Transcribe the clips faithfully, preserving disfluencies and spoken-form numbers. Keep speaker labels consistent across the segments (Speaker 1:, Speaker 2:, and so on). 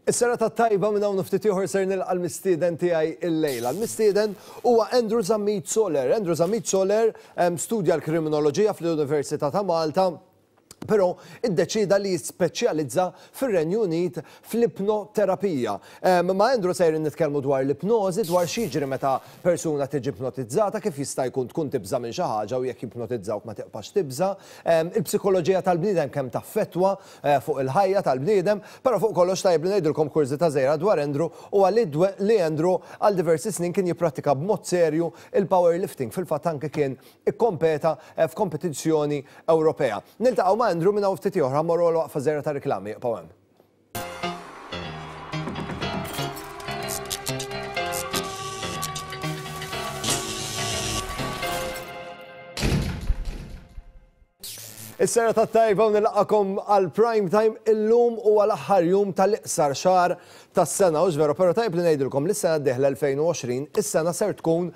Speaker 1: Is-serata tajba. Minn hawn ftit ieħor ser nilqa' l-mistieden tiegħi illejla. L-mistieden huwa Andrew Zammit Soler. Andrew Zammit Soler studja l-kriminoloġija fl-Università ta' Malta, però iddeċida li jispeċjalizza fir-Renju Unit fl-ipnoterapija. Ma' Andrew sejrin nitkellmu dwar l-ipnożi, dwar x'jiġri meta persuna tiġi ipnotizzata, kif jista' jkun tkun tibża' minn xi ħaġa u jekk jipnotizzawk ma tibqax tibża', il-psikoloġija tal-bniedem kemm taffettwa fuq il-ħajja tal-bniedem, però fuq kollox tajjeb li ngħidilkom kurżità żgħira dwar Andrew u li Andrew għal diversi snin kien jipprattika b'mod serju il-powerlifting, fil-fatt anke kien ikkompeta f'kompetizzjoni Ewropea. Niltaqgħu ma' Andrew minn hawn ftit oħra, mmorru għal waqfa żgħira ta' reklami, ibqgħu hemm. Is-serata tajba u nilqakom għal prime time. Illum u għal aħħar jum tal-iqsar xahar tas-sena, u veru, però tajb li ngħidilkom li s-sena d-dieħla elfejn u għoxrin, is-sena ser tkun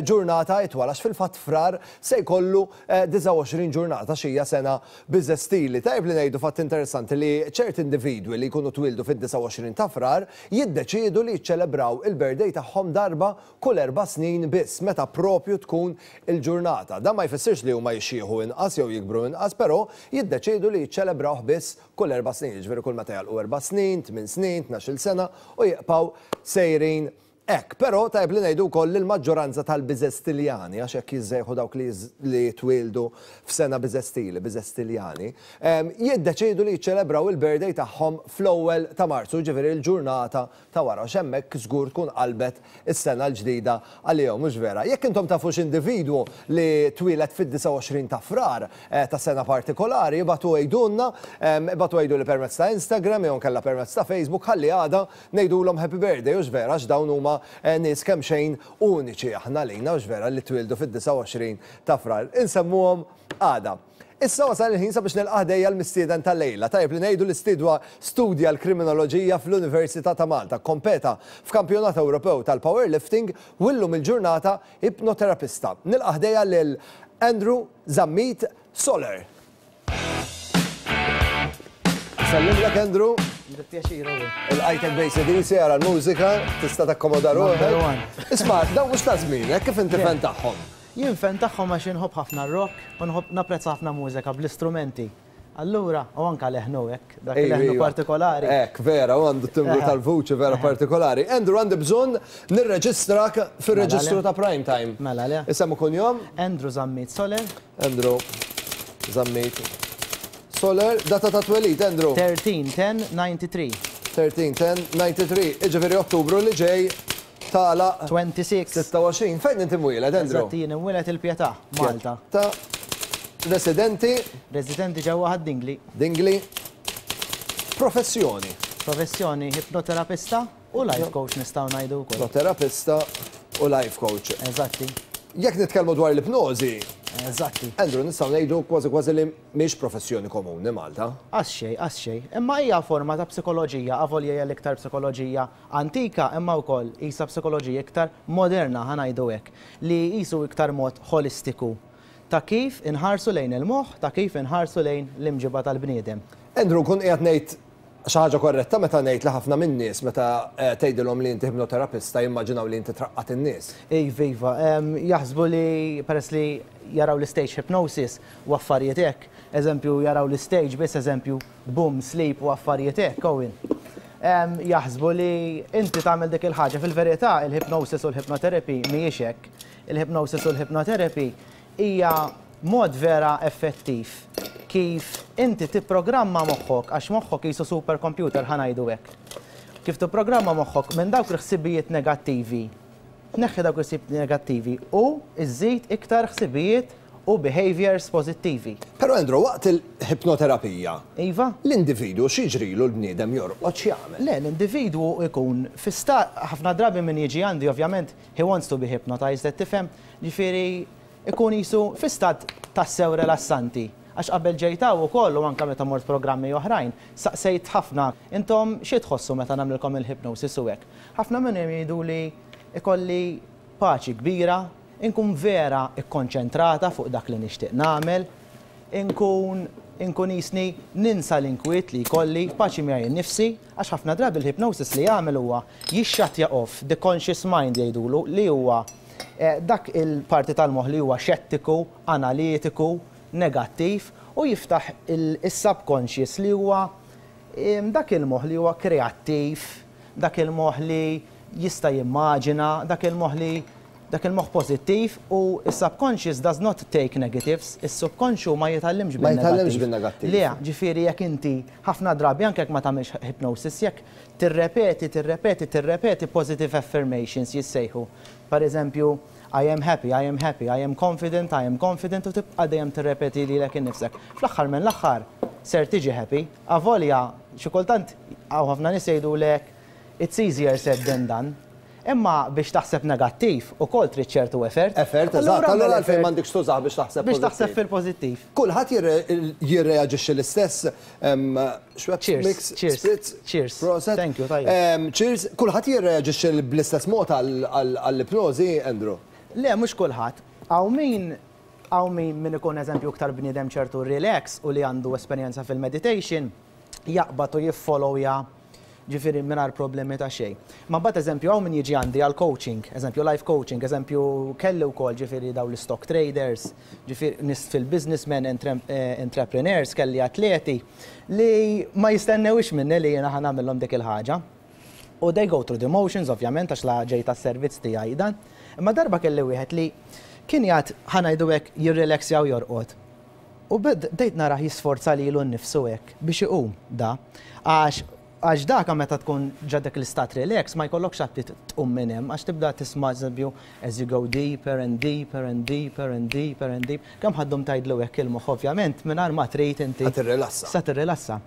Speaker 1: ġurnata itwal, għax fil-fatt Frar se jkollu disgħa u għoxrin ġurnata xija sena biżestili. Tajb li ngħidu fatt interessanti li ċert individwi li jkunu twildu fid-disgħa u għoxrin ta' Frar jiddeċiedu li jiċċelebraw il-birthday tagħhom darba kull erba' snin biss, meta propju tkun il-ġurnata. Dan ma jfissirx li huma jixjieħu inqas jew jikbru inqas, però jiddeċiedu li jiċċelebrawh biss kull erba' snin, jiġifieri kull meta jagħlqu erba' snin, tmien snin, tnax-il sena u jibqgħu sejrin hekk. Però tajb li ngħidu wkoll li l-maġġoranza tal-biżestiljani, għax hekk jiżżejħu dawk li jitwieldu f'sena biżestili, biżestiljani, jiddeċiedu li jiċċelebraw il-birthday tagħhom fl-ewwel ta' Marzu, ġifieri l-ġurnata ta' wara, għax hemmhekk żgur tkun qalbet is-sena l-ġdida għalihom, mhux vera? Jekk intom tafu x'individwu li twieled fid-disgħa u għoxrin ta' Frar ta' sena partikolari, ibagħtu għidulna, ibagħtu għidu li permezz ta' Instagram jew nkella permezz ta' Facebook, ħalli għada ngħidulhom happy birthday, hux vera? Għax dawn huma nies kemm xejn uniċi aħna lejna, hux vera, li twildu fid-disgħa u għoxrin ta' Frar. Insemmuhom għada. Issa wasal il-ħin sabiex nilqa' ħdejja l-mistieden tal-lejla. Tajjeb li ngħidu li stidwa studja l-kriminoloġija fl-Università ta' Malta, kompeta f'kampjonat Ewropew tal-powerlifting u llum il-ġurnata ipnoterapista. Nilqa' ħdejja lil Andrew Zammit Soler. Sellimlek, Andrew. Il-għajtek bej sedisi għara l-mużika, tista' takkomoda ruħek. Isma', dawn mhux ta' żmien, kif inti fan tagħhom?
Speaker 2: Jien fan tagħhom għax inħobb ħafna rock u nħobb napprezza ħafna mużika bl-istrumenti. Allura, u anka leħnu hekk, dak leħnu partikolari.
Speaker 1: Hekk, vera, u għandu timbru tal-vuċi vera partikolari. Andrew, għandi bżonn nirreġistrak fir-reġistru ta' Prime Time.
Speaker 2: Mela le.
Speaker 1: Isem u kunjom?
Speaker 2: Andrew Zammit Soler.
Speaker 1: Andrew Zammit Soler, data ta' twelid, Andrew?
Speaker 2: tlettax ten disgħa u disgħin.
Speaker 1: tlettax ten disgħa u disgħin, iġifieri Ottubru li ġej tagħlaq
Speaker 2: sitta u għoxrin.
Speaker 1: sitta u għoxrin. Fejn inti mwieled, Andrew?
Speaker 2: Eżatt, jien imwieled il-Pietà, Malta.
Speaker 1: Ta' residenti?
Speaker 2: Residenti ġewwa Ħad-Dingli.
Speaker 1: Dingli. Professjoni?
Speaker 2: Professjoni ipnoterapista u life coach nistgħu ngħidu wkoll.
Speaker 1: Ipnoterapista u life coach.
Speaker 2: Eżatti.
Speaker 1: Jekk nitkellmu dwar l-ipnożi,
Speaker 2: Eżatti.
Speaker 1: Andrew, nistgħu ngħidu kważi kważi li mhix professjoni komuni Malta.
Speaker 2: Għax xejn, għax xejn. Imma hija forma ta' psikoloġija, avolja hija l-iktar psikoloġija antika, imma wkoll isa psikoloġija iktar moderna, ħa ngħidu hekk, li qisu iktar mod holistiku ta' kif inħarsu lejn il-moħħ, ta' kif inħarsu lejn l-imġiba tal-bniedem.
Speaker 1: Andrew, kun qiegħed ngħid xi ħaġa korretta meta ngħid li ħafna min-nies meta tgħidilhom li inti ipnoterapista jimmaġinaw li inti traqqat in-nies?
Speaker 2: Iva, iva, jaħsbu li peress li jaraw l-stage hypnosis u affarijiet hekk, eżempju jaraw l-stage biss, eżempju boom, sleep u affarijiet hekk, Owen. Jaħsbu li inti tagħmel dik il-ħaġa. Fil-verità il-hypnosis u l-hypnotherapy mhijiex hekk. Il-hypnosis u l-hypnotherapy hija mod vera effettiv kif inti tipprogramma moħħok, għax moħħok qisu supercomputer, ħa ngħidu hekk. Kif tipprogramma moħħok minn dawk il-ħsibijiet negattivi, tneħħi dawk il-ħsibijiet negattivi u iżżid iktar ħsibijiet u behaviors pożittivi.
Speaker 1: Però Andrew, waqt il-ipnoterapija,
Speaker 2: Iva?
Speaker 1: l-individwu x'jiġrilu, l-bniedem jorqod, x'jagħmel?
Speaker 2: Le, l-individwu ikun fi stat, ħafna drabi min jiġi għandi ovvjament he wants to be hypnotized, qed tifhem, ġifieri ikun qisu fi stat tassew rilassanti. Għax qabel ġejt hawn ukoll u anke meta mort programmi oħrajn, saqsejt ħafna, intom xi tħossu meta nagħmlilkom il-hypnosis u hekk? Ħafna minnhom jgħidu li ikolli paċi kbira, inkun vera ikkonċentrata fuq dak li nixtieq nagħmel, inkun Inkun jisni ninsa l-inkwiet li jkolli, paċi miegħi nnifsi, għax ħafna drabi l-hypnosis li jagħmel huwa jixxattja off the conscious mind jgħidulu, li huwa eh, dak il-parti tal-moħħ li huwa xettiku, analitiku, negattiv, u jiftaħ il-subconscious li huwa dak il-moħħ li huwa kreattiv, dak il-moħħ li jista' jimmaġina, dak il-moħħ li dak il-moħħ pozittiv, u il-subconscious does not take negatives, il-subconscious ma jitgħallimx.
Speaker 1: Ma jitgħallimx bil-negattiv.
Speaker 2: Le, ġifieri jekk inti ħafna drabi, anke jekk ma tagħmilx hypnosis, jekk tirrepeti, tirrepeti, tirrepeti positive affirmations jissejħu. Per eżempju, "I am happy, I am happy, I am confident, I am confident", u tibqa' dejjem tirrepeti lilek innifsek. Fl-aħħar minn l-aħħar ser tiġi happy, avolja xi kultant hawn ħafna nies jgħidulek "It's easier said than done." Imma biex taħseb negattiv ukoll trid ċertu effort.
Speaker 1: Effort, eżatt. Allura għalfejn m'għandekx tużah biex taħseb
Speaker 2: Biex taħseb fil-pożittiv.
Speaker 1: Kulħadd jirreaġixxi l-istess?
Speaker 2: Cheers.
Speaker 1: Cheers.
Speaker 2: Cheers. Thank you, tajjeb.
Speaker 1: Cheers. Kulħadd jirreaġixxi bl-istess mod għall-ipnożi, Andrew?
Speaker 2: Le, mhux kulħadd. Hawn min hawn min min ikun, eżempju, iktar bniedem ċertu relax u li għandu esperjenza fil-meditation, jaqbad u jiffollowja, ġifieri mingħajr problemi ta' xejn. Ma mbagħad, eżempju, hawn min jiġi għandi għal coaching, eżempju life coaching, eżempju kelli wkoll ġifieri daw l-stock traders, ġifieri nies fil-businessmen, eh, entrepreneurs, kelli atleti li ma jistennewix minni li jiena ħa nagħmilhom dik il-ħaġa. U they go through the motions, ovvjament, għax la ġej tas-servizz tiegħi dan. Imma darba kelli wieħed li kien jgħid, ħa ngħidu hekk, jirrelaxjaw, jorqod. U bdejt narah jisforza lilu nnifsu hekk biex iqum da. Għax għax dak meta tkun ġo dak l-istat relax ma jkollokx aptit tqum minn hemm, għax tibda tisma', eżempju, as you go deeper and deeper and deeper and deeper and deep. Kemm ħa ddum tgħidlu hekk, il-moħħ ovvjament mingħajr ma trid inti.
Speaker 1: Ħa tirrilassa.
Speaker 2: Sa tirrilassa.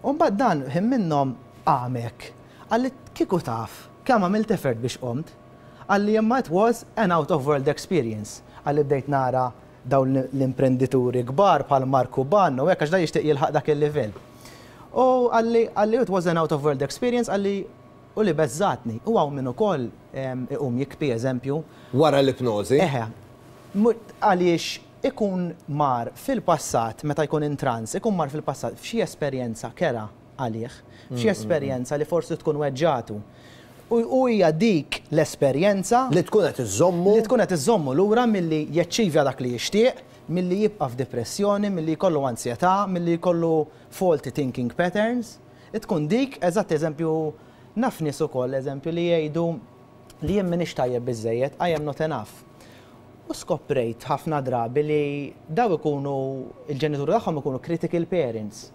Speaker 2: U mbagħad dan ħin minnhom qam hekk. Qalli, "Kieku taf kemm għamilt effort biex qomt." Qalli, "Imma it was an out of world experience." Qalli, "Bdejt nara dawn l-imprendituri kbar bħal Marku Ban u hekk", għax da jixtieq jilħaq dak il-livell. U qalli qalli "It was an out of world experience", qalli, "u li beżżgħetni." U hawn min ukoll iqum jibki, eżempju.
Speaker 1: Wara l-ipnożi?
Speaker 2: Eħe. Għaliex ikun mar fil-passat, meta jkun in trance, ikun mar fil-passat f'xi esperjenza kerha għalih, f'xi esperjenza li forsi tkun weġġgħatu. U hija dik l-esperjenza
Speaker 1: li tkun qed iżommu
Speaker 2: li tkun qed iżommu lura milli jaċċivja dak li jixtieq, milli jibqa' f'depressjoni, milli jkollu ansjetà, milli jkollu faulty thinking patterns. Tkun dik, eżatt, eżempju, naf nies ukoll, eżempju, li jgħidu li "Jien m'iniex tajjeb biżejjed, I am not enough." U skoprejt ħafna drabi li daw ikunu, il-ġenituri tagħhom ikunu critical parents.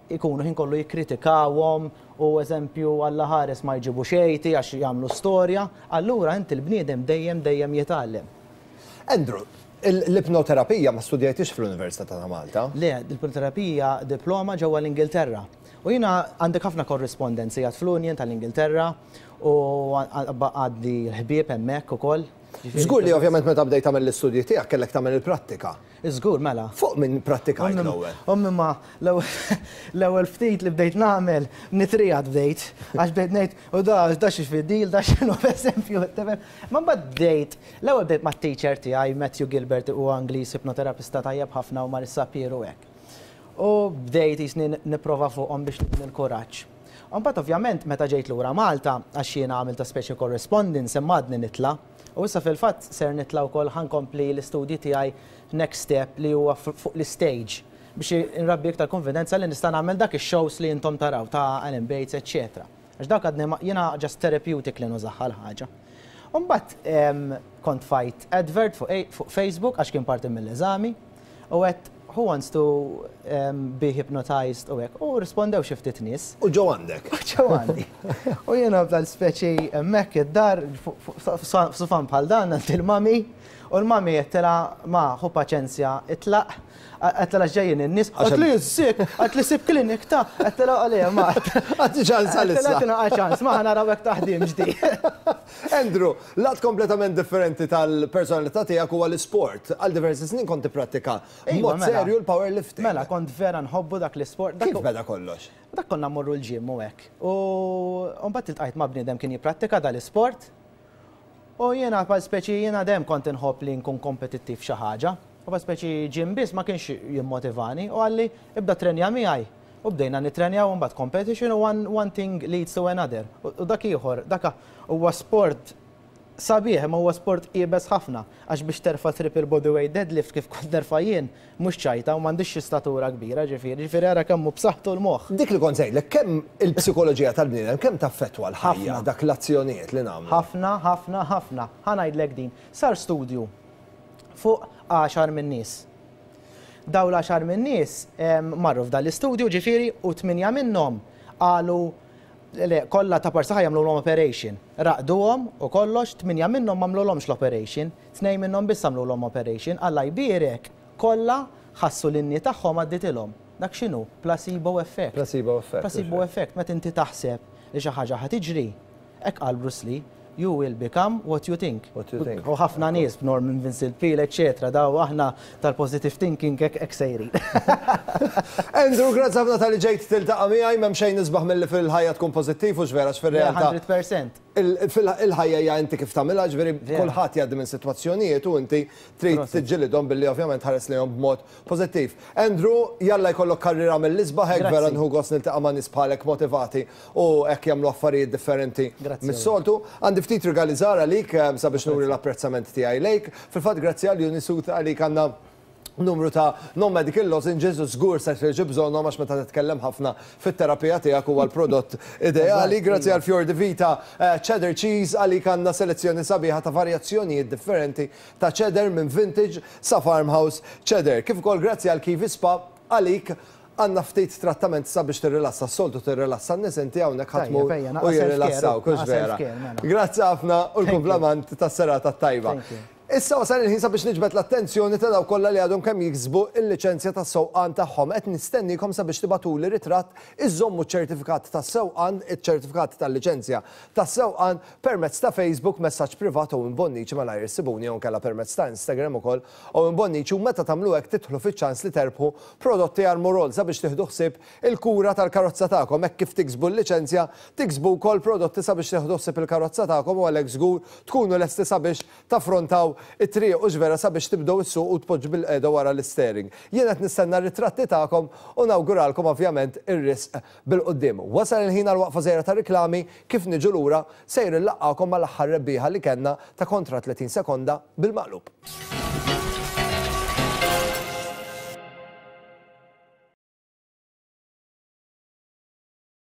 Speaker 2: Ikunu ħin kollu jikkritikawhom u, eżempju, Alla ħares ma jġibu xejti għax jagħmlu storja, allura inti l-bniedem dejjem dejjem jitgħallem.
Speaker 1: Andrew, l-ipnoterapija ma studjajtix fl-Università ta' Malta?
Speaker 2: Le, l-ipnoterapija diploma ġewwa l-Ingilterra. U jiena għandek ħafna korrespondenzi għad fl-Union tal-Ingilterra u għaddi l-ħbieb hemmhekk ukoll.
Speaker 1: Żgur li ovvjament meta bdejt tagħmel l-istudji tiegħek kellek tagħmel il-prattika.
Speaker 2: Żgur, mela.
Speaker 1: Fuq min prattikajt l-ewwel?
Speaker 2: Ommi, ma l-ewwel ftit li bdejt nagħmel nitriegħed bdejt, għax bdejt ngħid, "U da da xi fidil, da x'inhu?" Eżempju, ma mbagħad bdejt, l-ewwel bdejt mat-teacher tiegħi, Matthew Gilbert, u Ingliż, ipnoterapista tajjeb ħafna, u Marissa Pieru hekk. U bdejt jisni nipprova fuqhom biex nibni l-kuraġġ. Mbagħad ovvjament meta ġejt lura Malta, għax jiena għamilta speċi correspondence, imma għadni nitla'. U issa fil-fatt ser nitla' wkoll, ħa nkompli l-istudji tiegħi, next step li huwa fuq l-stage biex nrabbi iktar konfidenza li nista' nagħmel dak ix-shows li intom taraw ta' Alan Bates, eċċetera. Għax dak għadni jiena just therapeutic li nużaha l-ħaġa. Mbagħad kont tfajt advert fuq Facebook, għax kien parti mill-eżami, u għedt, "Who wants to um, be hypnotized?" u hekk. U rispondew xi ftit nies.
Speaker 1: U ġew għandek.
Speaker 2: U ġew għandi. U jiena bdal speċi hemmhekk id-dar f'sufan bħal dan għand il-mami. U l-mami għedtilha, "Ma, ħu paċenzja, itlaq." Għedtilha, "Ġejjin in-nies." Għedtli, "Sik," għedtli, "sib klinik ta'." Għedtilha, "Għalija, ma."
Speaker 1: Għati ċans għalissa.
Speaker 2: Għedtilha, "ċans, ma, ħa naraw hekk taħdim ġdid."
Speaker 1: Andrew, lat kompletament differenti tal-personalità tiegħek huwa l-isport. Għal diversi snin kont tipprattika mod
Speaker 2: mela.
Speaker 1: serju l-powerlifting.
Speaker 2: Mela, kont vera nħobbu dak l-isport.
Speaker 1: Kif beda kollox?
Speaker 2: Dak konna mmorru l-gym u hekk. U mbagħad iltqajt ma' bniedem kien jipprattika dal-isport. U jiena bħal speċi jiena dejjem kont inħobb li nkun kompetittiv xi ħaġa. Papa speċi gym biss ma kienx jimmotivani u qalli, "Ibda trenja miegħi." U bdejna nitrenjaw, mbagħad competition u one, one thing leads to another. U dak ieħor, dak huwa sport sabiħ, ma huwa sport iebes ħafna, għax biex terfa' triple bodyweight deadlift kif kont nerfa' jien, mhux ċajta, u m'għandix xi statura kbira, ġifieri, ġifieri ara kemm hu b'saħħtu l-moħħ.
Speaker 1: Dik li kont sejlek, kemm il-psikoloġija tal-bniedem, kemm taffettwa l-ħajja, dak l-azzjonijiet li nagħmlu?
Speaker 2: Ħafna, ħafna, ħafna. Ħa ngħidlek din. Sar studju fuq għaxar minn nies. Daw l-għaxar minn nies marru f'dan l-istudju, ġifieri, u tminja minnhom qalu le, kollha ta' parsa jagħmlu operation. Raqduhom u kollox, tminja minnhom m'għamlulhomx l-operation, tnejn minnhom biss għamlulhom operation. Alla jbierek, kollha ħassu l-knee tagħhom għadditilhom. Dak x'inhu? Placebo effect.
Speaker 1: Placebo effect.
Speaker 2: Placebo effect, meta inti taħseb li xi ħaġa ħa tiġri. Hekk qal Bruce Lee, "You will become what you think."
Speaker 1: What you think.
Speaker 2: U ħafna nies, Norman Vincent Peale, eccetera, daw aħna tal-positive thinking hekk hekk sejrin.
Speaker 1: Andrew, grazzi ħafna talli ġejt tiltaqa' miegħi. M'hemm xejn isbaħ milli fil-ħajja tkun pożittiv, u vera fir-realtà.
Speaker 2: mija fil-mija.
Speaker 1: Il-ħajja hija inti kif tagħmilha, ġifieri kulħadd jgħaddi minn sitwazzjonijiet u inti trid tiġġilidhom billi ovvjament ħares lejhom b'mod pożittiv. Andrew, jalla jkollok karriera mill-isbaħ hekk, vera nieħu gost niltaqa' ma' nies bħalek motivati u hekk jagħmlu affarijiet differenti mis-soltu. Għandi ftit rigali żgħar għalik eh, sabiex nuri l-apprezzament tiegħi lejk. Fil-fatt, grazzi għal Unisut, għalik għandna numru ta' non-medical lozenges u żgur se tiġi bżonnhom, għax meta titkellem ħafna fit-terapija tiegħek huwa l-prodott ideali. Grazzi għal Fior di Vita eh, cheddar cheese, għalik għandna selezzjoni sabiħa ta' varjazzjonijiet differenti ta' cheddar, minn vintage sa' farmhouse cheddar. Kif ukoll grazzi għal Kiwi Spa, għalik għandna ftit trattament sabiex tirrilassa, s-soltu tirrilassa n-nies, inti hawnhekk ħa tmur
Speaker 2: Tajjeb, ejja,
Speaker 1: u
Speaker 2: naqra
Speaker 1: jirrilassaw,
Speaker 2: self-care,
Speaker 1: kux
Speaker 2: naqra
Speaker 1: vera.
Speaker 2: self-care, mela.
Speaker 1: Grazzi ħafna u l-kumplament tas-serata tajba.
Speaker 2: Thank you.
Speaker 1: Issa wasal il-ħin sabiex niġbed l-attenzjoni ta' dawk kollha li għadhom kemm jiksbu il-liċenzja tas-sewqan tagħhom. Qed nistennikom sabiex tibagħtuli ritratt iżommu ċ-ċertifikat tas-sewqan, iċ-ċertifikat tal-liċenzja tas-sewqan, permezz ta' Facebook, messaġġ privat u Bonnici, malajr issibuni, jew inkella permezz ta' Instagram ukoll u Bonnici, u meta tagħmlu hekk tidħlu fiċ-ċans li terbħu prodotti Armorol sabiex tieħdu ħsieb il-kura tal-karozza tagħkom. Hekk kif tiksbu l-liċenzja, tiksbu wkoll prodotti sabiex tieħdu ħsieb il-karozza tagħkom u għalhekk żgur tkunu lesti sabiex taffrontaw it-triq, u vera sabiex tibdew issuq u tpoġġu bilqiegħda wara l-steering. Jien qed nistenna r-ritratti tagħkom u nawguralkom ovvjament ir-risq bil-quddiem. Wasal il-ħin għal waqfa żgħira ta' riklami. Kif niġu lura sejr inlaqqagħkom mal-aħħar rebbieħa li kellna ta' kontra tletin sekonda bil-maqlub.